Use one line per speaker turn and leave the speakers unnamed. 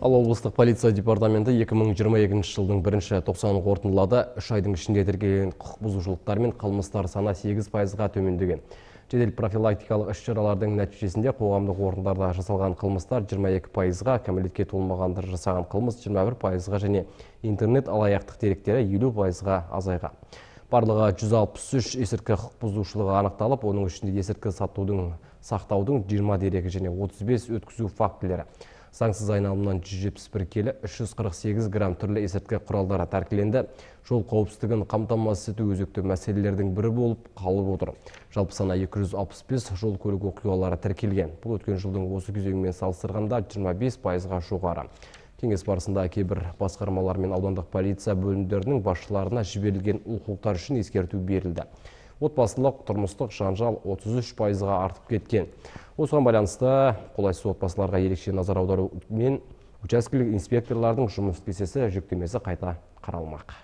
Ал облыстық полиция департаменті 2022 жылдың 1-90 қорытындылады. 3 айдың ішінде тіркелген құқық бұзушылықтар мен қылмыстар саны 8%-ға төмендеген. Жедел профилактикалық іс-шаралардың нәтижесінде қоғамдық орындарда жасалған қылмыстар 22%-ға, кәмелетке толмағандар жасаған қылмыс 21%-ға және интернет алаяқтық деректері 50%-ға азайған. Барлығы 163 есірткі құқық бұзушылығы анықталып, оның ішінде есірткі сақтаудың 20 дерегі және 35 өткізу фактілері. Заңсыз айналымнан 171 келі, 348 грамм түрлі есірткі құралдары тәркіленді. Жол қауіпсіздігін қамтамасыз ету өзекті мәселелердің бірі болып қалып отыр. Жалпы саны 265 жол көлік оқиғалары тіркелген. Бұл өткен жылдың осы кезеңімен салыстырғанда 25%-ға жоғары. Кеңес барысында кейбір басқармалар мен аудандық полиция бөлімдерінің басшыларына жіберілген олқылықтар үшін ескерту берілді. Отбасылық тұрмыстық жанжал 33%-ға артып кеткен. Осыған байланысты қолайсыз отбасыларға ерекше назар аудару мен учаскелік инспекторлардың жұмыс кестесі жүктемесі қайта қаралмақ.